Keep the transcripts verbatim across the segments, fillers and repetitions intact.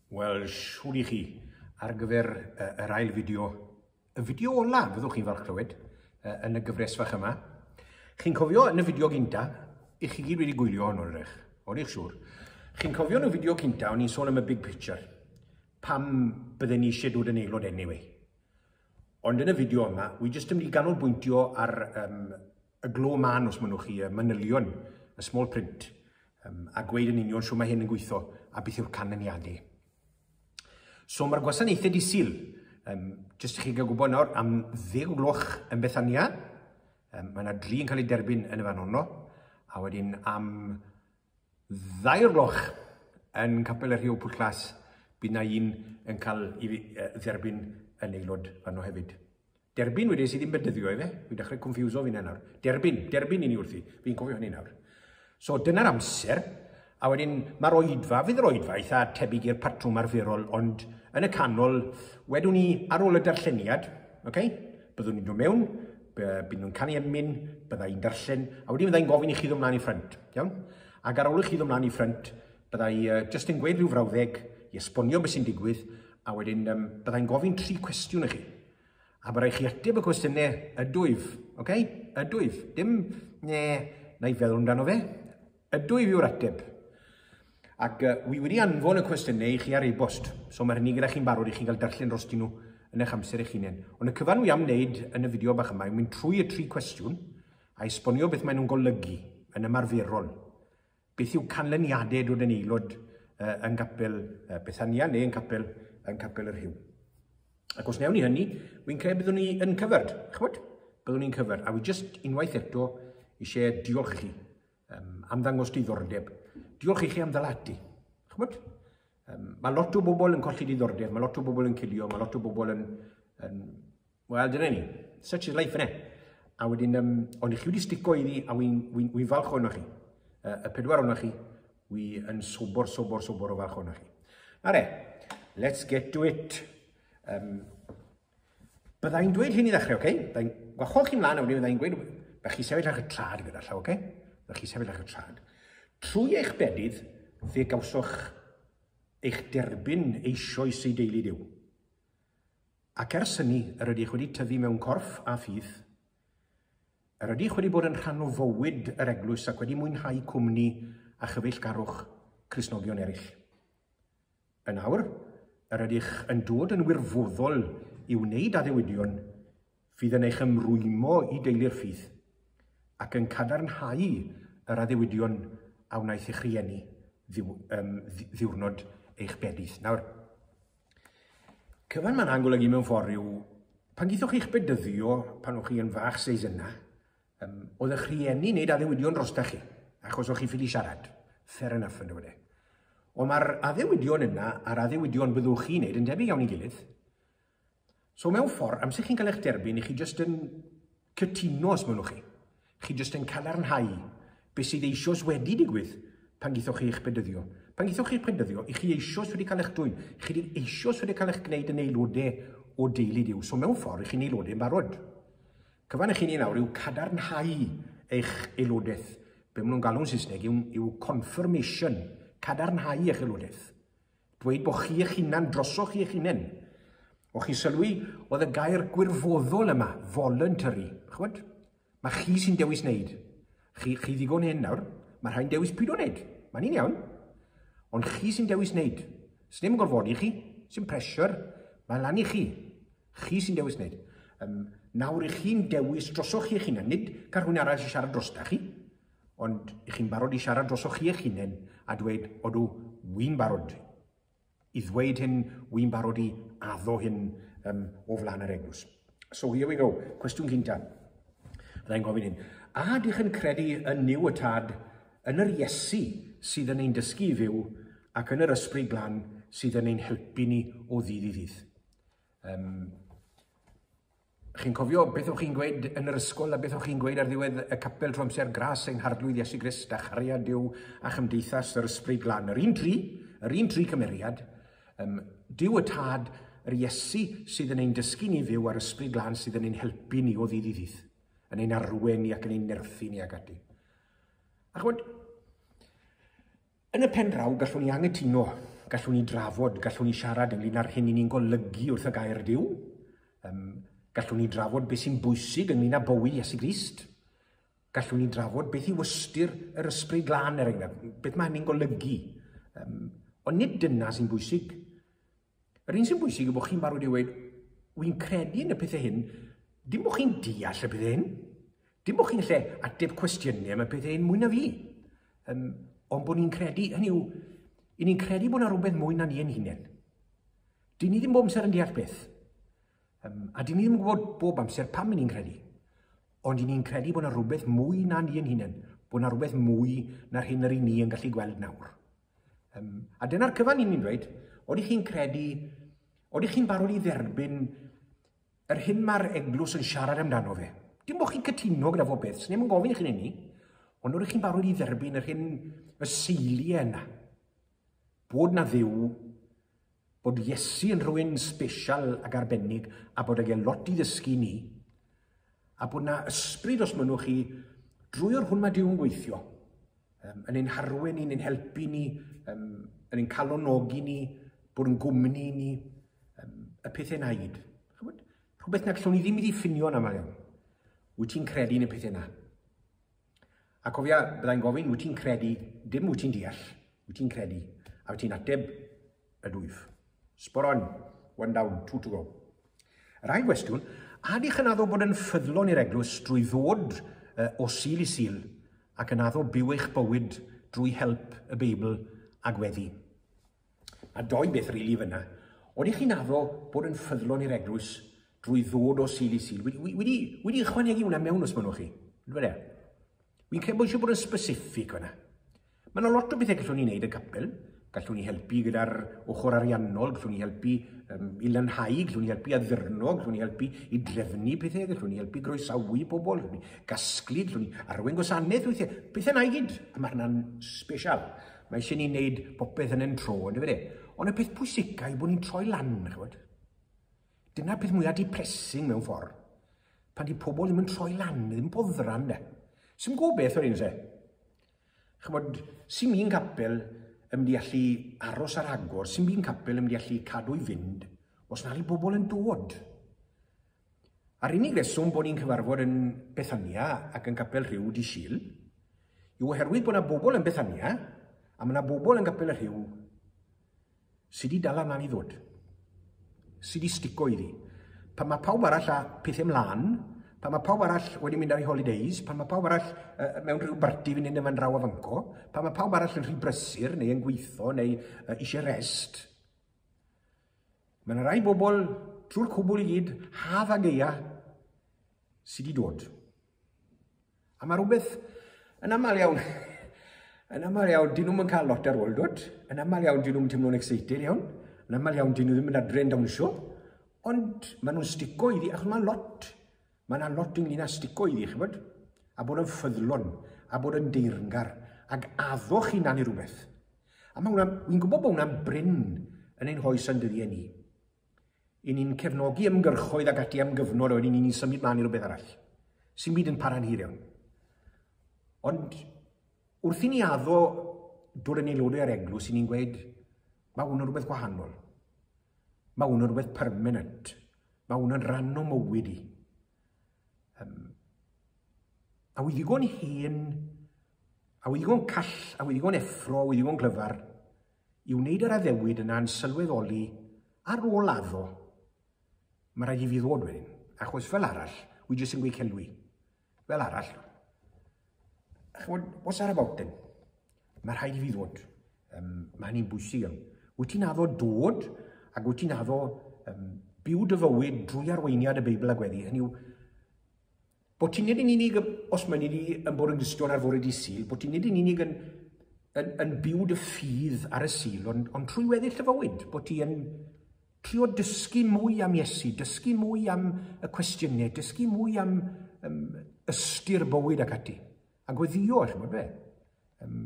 Wel, siŵr i chi, ar gyfer uh, yr ail fideo, y fideo ola, fyddwch chi'n falch clywed, uh, yn y gyfres fach yma. Chi'n cofio yn y fideo gynta, i chi gyd wedi gwylio hwn o'r eich, o'n i'ch siŵr. Chi'n cofio yn y fideo cynta, o'n i'n sôn am y big picture, pam bydden ni eisiau dod yn aelod anyway. Ond yn y fideo yma, wi jyst yn mynd i ganolbwyntio ar um, y glo man, os mynnwch chi, y manylion, y small print, um, a gweud yn union shwt mae hyn yn gweithio a beth yw'r canlyniadau. So mae'r gwasanaethau dydd Sul, um, jyst i chi gael gwybod nawr, am ddeg o gloch yn Bethania, um, mae yna dri yn cael ei derbyn yn y fan honno, a wedyn am ddau o'r gloch yn Capel y Rhiw Pwllglas, bydd na un yn cael ei dderbyn yn aelod fanno hefyd. Derbyn wedyn sydd ddim bedyddio i fe, fi'n dechrau confuso fi nawr. Derbyn, derbyn i ni wrthi, fi'n cofio hynny nawr. So dyna'r amser, a wedyn mae'r oedfa, fydd yr oedfa eitha tebyg i'r patrwm arferol, ond yn y canol, wedwn ni ar ôl y darlleniad, okay? Byddwn ni'n dod mewn, bydd nhw'n canu emyn, bydda i'n darllen, a wedyn bydda i'n gofyn i chi ddod mlaen i ffrynt, iawn? Ac ar ôl i chi ddod mlaen i ffrynt, bydda i uh, jyst yn gweud rhyw frawddeg i esbonio beth sy'n digwydd, a wedyn um, bydda i'n gofyn tri cwestiwn i chi. A bydda i chi ateb y cwestiynau ydwyf, okay? Ydwyf, dim ne, na i feddwl amdano fe. Ydwyf yw'r ateb. Ac uh, wi wedi anfon y cwestiynau i chi ar e-bost, so mae hynny gyda chi'n barod i chi gael darllen drostyn nhw yn eich amser eich hunain. Ond y cyfan wi am wneud yn y fideo bach yma yw mynd trwy y tri cwestiwn a esbonio beth maen nhw'n golygu yn ymarferol. Beth yw canlyniadau dod yn aelod uh, yn capel uh, Bethania neu yn capel, yn capel y Rhiw. Ac os newn ni hynny, wy'n credu byddwn ni yn covered. Ch'mod? Byddwn ni'n covered. A wi just unwaith eto eisiau diolch chi um, am ddangos diddordeb. Diolch i chi am ddal ati. Ch'mod? Um, mae lot o bobl yn colli diddordeb, mae lot o bobl yn cilio, mae lot o bobl yn... yn Wel, dyna ni. Such is life, innit? A wedyn, um, ond i chi wedi stico iddi, a wy'n wi, wi falch ohonoch chi. Uh, y pedwar ohonoch chi, wi yn sobor, sobor, sobor o falch ohonoch chi. Are, let's get to it. Um, bydda i'n dweud hyn i ddechrau, oce? Okay? Bydda i'n gwahodd chi mlaen, a wedyn bydda i'n gweud, bydda chi sefyll ar y trad gyda llaw, oce? Okay? Bydda chi sefyll ar y trad. Trwy eich bedydd, fe gawsoch eich derbyn eisoes i deulu Duw. Ac ers hynny, yr ydych wedi tyfu mewn corff a ffydd, yr ydych wedi bod yn rhan o fywyd yr eglwys ac wedi mwynhau cwmni a chyfeillgarwch Cristnogion eraill. Yn awr, yr ydych yn dod yn wirfoddol i wneud addewidion fydd yn eich ymrwymo i deulu'r ffydd ac yn cadarnhau yr addewidion a wnaeth eich rhieni ddiw, um, ddiwrnod eich bedydd. Nawr, cyfan mae'n golygu mewn ffordd yw, pan geithoch chi'ch bedyddio, pan o'ch chi yn fach seis yna, um, oedd eich rhieni wneud addewidion drostach chi, achos o'ch chi ffili siarad. Fair enough yn dweud e. Ond mae'r addewidion yna a'r addewidion byddwch chi'n wneud yn debyg iawn i gilydd. So mewn ffordd, amser chi'n cael eich derbyn, i chi jyst yn cytuno os mynnwch chi. Chi jyst yn cadarnhau beth sydd eisoes wedi digwydd pan geithoch chi eich bedyddio. Pan geithoch chi eich bedyddio, i chi eisoes wedi cael eich dwyn. Chi eisoes wedi cael eich gwneud yn aelodau o deulu Duw. So mewn ffordd, i chi'n aelodau yn barod. Cyfan i chi'n ei nawr yw cadarnhau eich aelodaeth. Be maen nhw'n galw'n Saesneg yw, yw confirmation, cadarnhau eich aelodaeth. Dweud bod chi eich hunan, drosoch chi eich hunain. O chi sylwi, oedd y gair gwirfoddol yma, voluntary. Ch'mod? Mae chi sy'n dewis wneud. Chi, chi ddigon hyn nawr, mae rhai'n dewis pyd o wneud. Mae'n un iawn. Ond chi sy'n dewis wneud. Sdim yn gorfodi chi, sy'n pressure, mae'n lan i chi. Chi sy'n dewis wneud. Um, nawr i chi'n dewis drosoch chi eich hunan, nid cael rhywun arall i siarad drosta chi, ond i chi'n barod i siarad drosoch chi eich hunan a dweud, odw, wy'n barod i ddweud hyn, wy'n barod i addo hyn um, o flaen yr eglwys. So here we go. Cwestiwn cynta. Byddai'n gofyn hyn. A ydych yn credu yn Nuw y Tad, yn yr Iesu sydd yn ein dysgu i fyw ac yn yr Ysbryd Glân sydd yn ein helpu ni o ddydd i ddydd? Um, chi'n cofio beth o'ch chi'n gweud yn yr ysgol a beth o'ch chi'n gweud ar ddiwedd y capel trwy amser? Gras ein Harglwydd Iesu Grist a chariad Duw a chymdeithas yr Ysbryd Glân. Yr un tri, yr un tri cymeriad, um, Duw y Tad, yr Iesu sydd yn ein dysgu ni fyw a'r Ysbryd Glân sydd yn ein helpu ni o ddydd i ddydd, yn ein arwen ni ac yn ein nerthu ni ac ati. A ch'mod, yn y pen draw, gallwn ni angytuno Gallwn ni drafod, gallwn ni siarad ynglyn â'r hyn i ni'n golygu wrth y gair Duw. Um, gallwn ni drafod beth sy'n bwysig ynglyn â bywyd Iesu Grist. Gallwn ni drafod beth yw ystyr yr Ysbryd Glân, er enghraifft, beth mae hynny'n golygu. Um, ond nid dyna sy'n bwysig. Yr un sy'n bwysig yw bod chi'n barod i weud, wy'n credu yn y pethau hyn, dim bod chi'n deall y pethau hyn, dim bod chi'n lle ateb cwestiynau am y pethau hyn mwy na fi. Um, ond bod ni'n credu, hynny yw, i ni'n credu bod yna rhywbeth mwy na ni ein hunain. Dyn ni ddim bob amser yn deall beth. Um, a dyn ni ddim yn gwybod bob amser pam i ni'n credu. Ond i ni'n credu bod yna rhywbeth mwy na ni ein hunain. Bod yna rhywbeth mwy na'r hyn yr i ni yn gallu gweld nawr. Um, a dyna'r cyfan i ni'n dweud, oeddech chi'n credu, oeddech chi'n barod i dderbyn yr hyn mae'r eglwys yn siarad amdano fe. Dim bod chi'n cytuno gyda fo beth, sneb yn gofyn i chi'n hynny, ond oeddech chi'n barod i dderbyn yr hyn, y seiliau yna. Bod na Dduw, bod Iesu yn rhywun special ac arbennig a bod ag e lot i ddysgu ni, a bod na ysbryd, os mynnwch chi, drwy o'r hwn mae Duw yn gweithio, um, yn ein harwen ni, yn ein helpu ni, um, yn ein calonogi ni, bod yn gwmni ni, um, y pethau na i gyd. Rhywbeth na gallwn ni ddim i ddiffinio yn aml iawn. Wyt ti'n credu yn y pethau na? A cofia, byddai'n gofyn, wyt ti'n credu, dim wyt ti'n deall, wyt ti'n credu. A wyt ti'n ateb y dwyf. Spot on, one down, two to go. Yr ail gwestiwn, a ydych yn addo bod yn ffyddlon i'r eglwys drwy ddod uh, o Sul i Sul ac yn addo byw eich bywyd drwy help y Beibl a gweddi? A doi beth rili really fyna. Oeddech chi'n addo bod yn ffyddlon i'r eglwys drwy ddod o Sul i Sul? Wedi, wedi, wedi ychwanegu hwnna mewn os mynnwch chi. Dwi Wy'n credu bod eisiau bod yn specific fyna. Mae yna lot o bethau gallwn ni wneud y capel. Gallwn ni helpu gyda'r ochr ariannol, gallwn ni helpu um, i lanhau, gallwn ni helpu addurno, gallwn ni helpu i drefnu pethau, gallwn ni helpu groesawu pobl, gallwn ni gasglu, gallwn ni arwain gwasanaeth weithiau. Pethau na i gyd, a mae hynna'n special. Mae eisiau ni wneud popeth yn ein tro, ynddo fe? Ond y peth pwysica yw bod ni'n troi lan, ch'bod. Dyna'r peth mwyaf depressing mewn ffordd. Pan di pobl ddim yn troi lan, ddim yn boddran, de. Sy'n gwybod beth o'r un se. Ch'bod, sy'n un capel yn mynd i allu aros ar agor, sy'n un capel yn mynd i allu cadw i fynd, os na i bobl yn dod. A'r unig reswm bod ni'n cyfarfod yn Bethania ac yn Capel Rhiw di Sul, yw oherwydd bod yna bobl yn Bethania, a mae yna bobl yn Capel y Rhiw sydd wedi dal ymlaen i ddod, sydd wedi stico iddi. Pan mae pawb arall â pethau ymlaen, pan mae pawb arall wedi mynd ar ei holidays, pan mae pawb arall uh, mewn rhyw barti fynd yn fan draw a fanco, pan mae pawb arall yn rhy brysur neu yn gweithio neu uh, eisiau rest, mae yna rai bobl drwy'r cwbl i gyd, haf a gaea, sydd wedi dod. A mae rhywbeth yn aml iawn, yn aml iawn, dyn nhw'n cael lot ar ôl dod, yn aml iawn dyn nhw'n teimlo'n excited iawn, yn aml iawn dyn nhw ddim yn adre'n dawnsio, ond maen nhw'n stico iddi, achos mae'n lot. Mae yna lot ynglyn â stico iddi, ch'bod? A bod yn ffyddlon, a bod yn deyrngar, ac addo chi'n i rhywbeth. A mae hwnna, wy'n gwybod bod hwnna'n brin yn ein hoes yn dyddiau ni. I ni'n cefnogi ymgyrchoedd ac ati am gyfnod, a wedyn ni'n symud mlaen i rhywbeth arall. Sy'n byd yn para'n hir iawn. Ond wrth i ni addo dod yn aelodau ar eglwys, i ni'n gweud, mae hwn yn rhywbeth gwahanol. Mae hwn yn rhywbeth permanent. Mae hwn yn rhan o mywyd i. Um, a wy ddigon hen, a wy ddigon call, a wy ddigon effro, a wy ddigon glyfar i wneud yr addewid yna'n sylweddoli ar ôl addo, mae rhaid i fi ddod wedyn. Achos fel arall, wy jyst yn gweud celwi. Fel arall, ch'mod, what's that about then? Mae rhaid i fi ddod. Um, mae hynny'n bwysig iawn. Wyt ti'n addo dod, ac wyt ti'n addo um, byw dy fywyd drwy arweiniad y Beibl a gweddi. Hynny yw, bod ti'n nid yn unig, os mae'n ni yn bod yn Gristion ar fore di Sul, bod ti'n nid yn unig yn, yn, yn byw dy ffydd ar y Sul, ond, ond trwy weddill dy fywyd, bod ti yn trio dysgu mwy am Iesu, dysgu mwy am y cwestiynau, dysgu mwy am um, ystyr bywyd ac ati. A gweddio, ch'mod be? Um,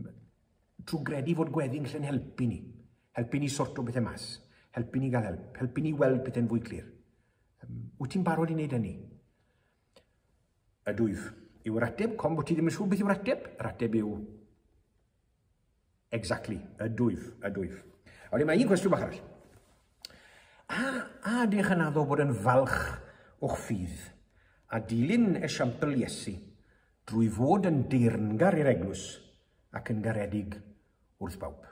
trwy gredu fod gweddi'n gallu'n helpu ni. Helpu ni sorto bethau mas. Helpu ni gael help. Helpu ni weld pethau'n fwy clir. Um, wyt ti'n barod i wneud hynny? Y dwyf. Yw'r ateb, com bod ti ddim yn siŵr beth yw'r ateb? Yr ateb yw, exactly, y dwyf, y dwyf. A wedyn mae un cwestiwn bach arall. A, a ydych yn addo bod yn falch o'ch ffydd a dilyn esiampl Iesu drwy fod yn deyrngar i'r eglwys ac yn garedig wrth bawb?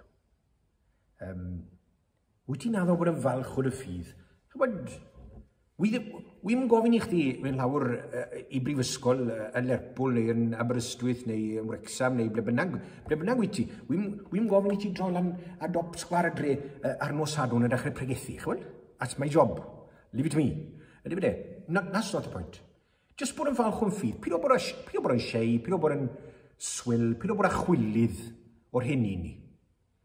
Um, wyt ti'n addo bod yn falch o dy ffydd? Chybod, wi'n gofyn i chdi fynd lawr i brifysgol yn Lerpwl neu yn Aberystwyth neu yn Wrexham neu ble bynnag, ble bynnag wyt ti. Wi'n gofyn i ti droi lan ar dop sgwâr y dre ar nos Sadwrn a dechrau pregethu, chybod? That's my job. Leave it to me. Ydy fe? That's not the point. Just bod yn falch o'n ffydd. Pido bod, pido bod yn shy, pido bod yn swil, pido bod â chwilydd o'r hyn i ni.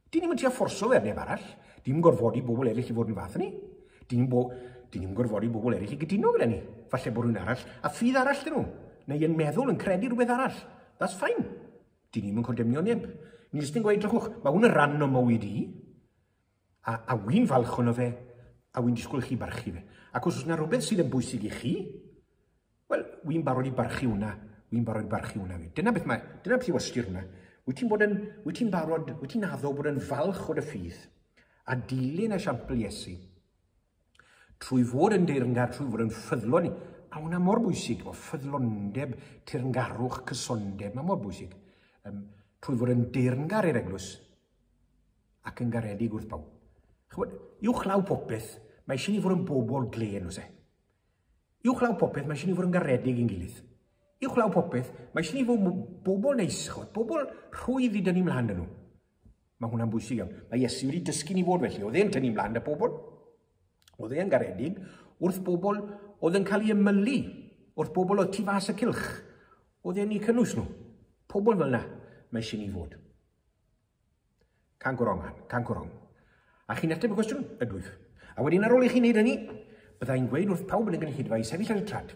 Dyn ni'n mynd i fforso fe ar neb arall. Dyn ni'n gorfodi bobl eraill i fod yn fath ni. Dyn ni'n bo, dyn ni'n gorfodi bobl eraill i gytuno gyda ni. Falle bod rhywun arall a ffydd arall dyn nhw. Neu yn meddwl, yn credu rhywbeth arall. That's fine. Dyn ni'n condemnio neb. Ni jyst yn gweud, drychwch, mae hwn yn ran o mywyd i. A, a wy'n falch ono fe, a wy'n disgwyl chi barchu fe. Ac os oes yna rhywbeth sydd yn bwysig i chi, wel, wy'n barod i barchu hwnna. Wy'n barod i barchu hwnna fi. Dyna beth mae, dyna beth yw ystyr hwnna. Wyt ti'n bod yn, wyt ti'n barod, wyt ti'n addo bod yn falch o dy ffydd a dilyn esiampl Iesu trwy fod yn deyrngar, trwy fod yn ffyddlon. A hwnna mor bwysig, o ffyddlondeb, teyrngarwch, cysondeb, mae mor bwysig. Um, trwy fod yn deyrngar i'r eglwys ac yn garedig wrth bawb. Chybod, uwchlaw popeth, mae eisiau ni fod yn bobl glên, oes e? Uwchlaw popeth, mae eisiau ni fod yn garedig i'n gilydd. Uwchlaw popeth, mae eisiau ni fod bobl neis, chybod, bobl rhwydd i dynnu mlaen dyn nhw. Mae hwnna'n bwysig iawn. Mae Iesu wedi dysgu ni fod felly. Oedd e'n tynnu mlaen â pobl. Oedd e'n garedig wrth bobl oedd yn cael ei ymylu, wrth bobl oedd tu fas y cylch. Oedd e'n eu cynnwys nhw. Pobl fel yna, mae eisiau ni fod. Can't go wrong, man. Can't go wrong. A chi'n ateb y cwestiwn? Ydwyf. A wedyn ar ôl i chi wneud hynny, byddai'n gweud wrth pawb yn y gynulleidfa i sefyll ar y trad.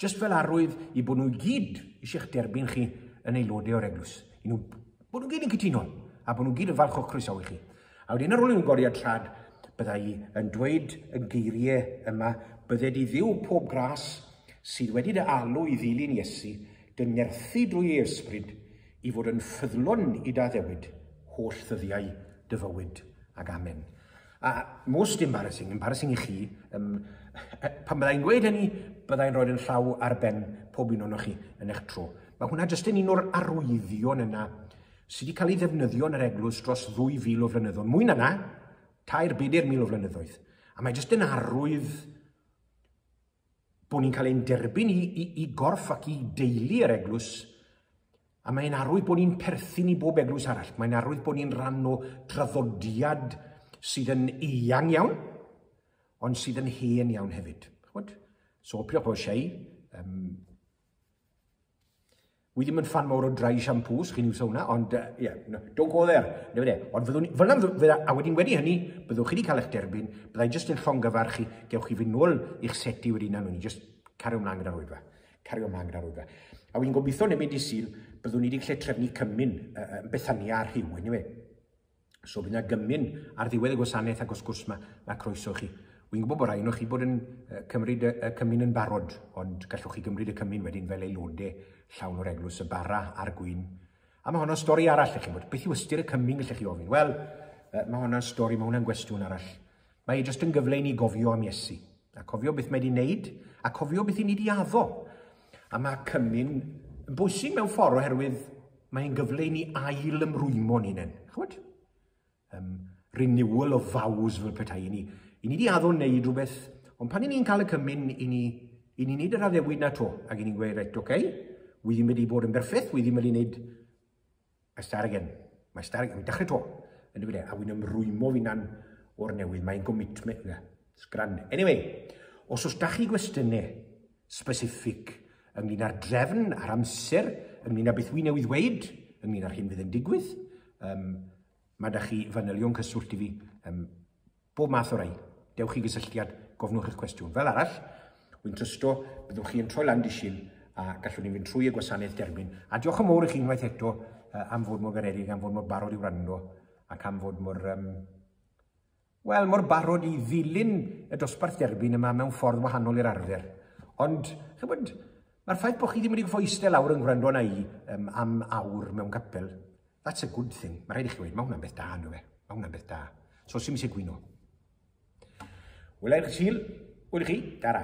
Just fel arwydd i bod nhw i gyd eisiau'ch derbyn chi yn aelodau o'r eglwys. I nhw, bod nhw gyd yn cytuno, a bod nhw gyd yn falch o'ch croesawu chi. A wedyn ar ôl i nhw godi ar trad, byddai yn dweud y geiriau yma, bydded i Dduw pob gras sydd wedi dy alw i ddilyn Iesu, dy nerthu drwy ei ysbryd, i fod yn ffyddlon i dy addewid, holl ddyddiau dy fywyd ac amen. A most embarrassing, embarrassing i chi, um, pan byddai'n gweud hynny, byddai'n rhoi yn llaw ar ben pob un ohonoch chi yn eich tro. Mae hwnna jyst yn un o'r arwyddion yna sydd wedi cael ei ddefnyddio yn yr eglwys dros ddwy fil o flynyddoedd. Mwy na na, tair, bedair mil o flynyddoedd. A mae jyst yn arwydd bod ni'n cael ein derbyn i, i, i gorff ac i deulu yr eglwys, a mae'n arwydd bod ni'n perthyn i bob eglwys arall. Mae'n arwydd bod ni'n rhan o traddodiad sydd yn eang iawn, ond sydd yn hen iawn hefyd. Ch'mod? So, pidwch bod shy. Um, wi ddim yn fan mawr o dry shampoos, chi'n iwso hwnna, ond, uh, yeah, no, don't go there. Ne, ond fyddwn, fel yna, a wedyn wedi hynny, byddwch chi wedi cael eich derbyn, byddai jyst yn llongyfarch chi, gewch chi fynd nôl i'ch seti wedyn na, ni jyst cario ymlaen gyda'r oedfa. Cario ymlaen gyda'r oedfa. A wy'n gobeithio neu mynd i Sul, byddwn ni wedi gallu trefnu cymun uh, Bethania ar Rhyw, anyway. So bydd yna gymun ar ddiwedd y gwasanaeth ac wrth gwrs mae, mae croeso chi. Wy'n gwybod bod rai ohonoch chi bod yn uh, cymryd y, y cymun yn barod, ond gallwch chi gymryd y cymun wedyn fel aelodau llawn o'r eglwys, y bara a'r gwin. A mae honno'n stori arall, ych chi'n bod. Beth yw ystyr y cymun, gallech chi ofyn? Wel, uh, mae honno'n stori, mae hwnna'n gwestiwn arall. Mae e jyst yn gyfle i ni gofio am Iesu. A cofio beth mae wedi wneud, a cofio beth i ni wedi addo. A mae cymun yn bwysig mewn ffordd oherwydd mae'n gyfle i ni ail ymrwymo ni'n hunain. Ch'mod? Um, renewal of vows fel petai i ni. I ni wedi addo wneud rhywbeth, ond pan i ni'n cael y cymun, i ni, i ni wneud yr addewid na to, ac i ni'n gweud, reit, oce, okay, wi ddim wedi bod yn berffaith, wi ddim wedi wneud, I start again, mae start again, dechrau to, yn dweud e, a wy'n ymrwymo fi'n o'r newydd, mae'n commitment, yeah, it's grand. Anyway, os oes da chi gwestiynau specific ynglyn â'r drefn, a'r amser, ynglyn â beth wi newydd weud, ynglyn â'r hyn fydd yn digwydd, um, mae da chi fanylion cyswllt i fi, um, bob math o rai. Dewch i gysylltiad, gofnwch eich cwestiwn. Fel arall, wy'n trysto, byddwch chi yn troi lan dydd Sul a gallwn ni fynd trwy y gwasanaeth derbyn. A diolch yn mawr i chi unwaith eto uh, am fod mor garedig, am fod mor barod i wrando ac am fod mor, um, wel, mor barod i ddilyn y dosbarth derbyn yma mewn ffordd wahanol i'r arfer. Ond, chybod, mae'r ffaith bod chi ddim wedi gorfod eistedd lawr yn gwrando arna i um, am awr mewn capel, that's a good thing. Mae rhaid i chi weud, mae hwnna'n beth da, ynddo fe? Mae hwnna'n beth da. So, sy'n eisiau gwyno. Wela i chi Sul, wela i chi, tara.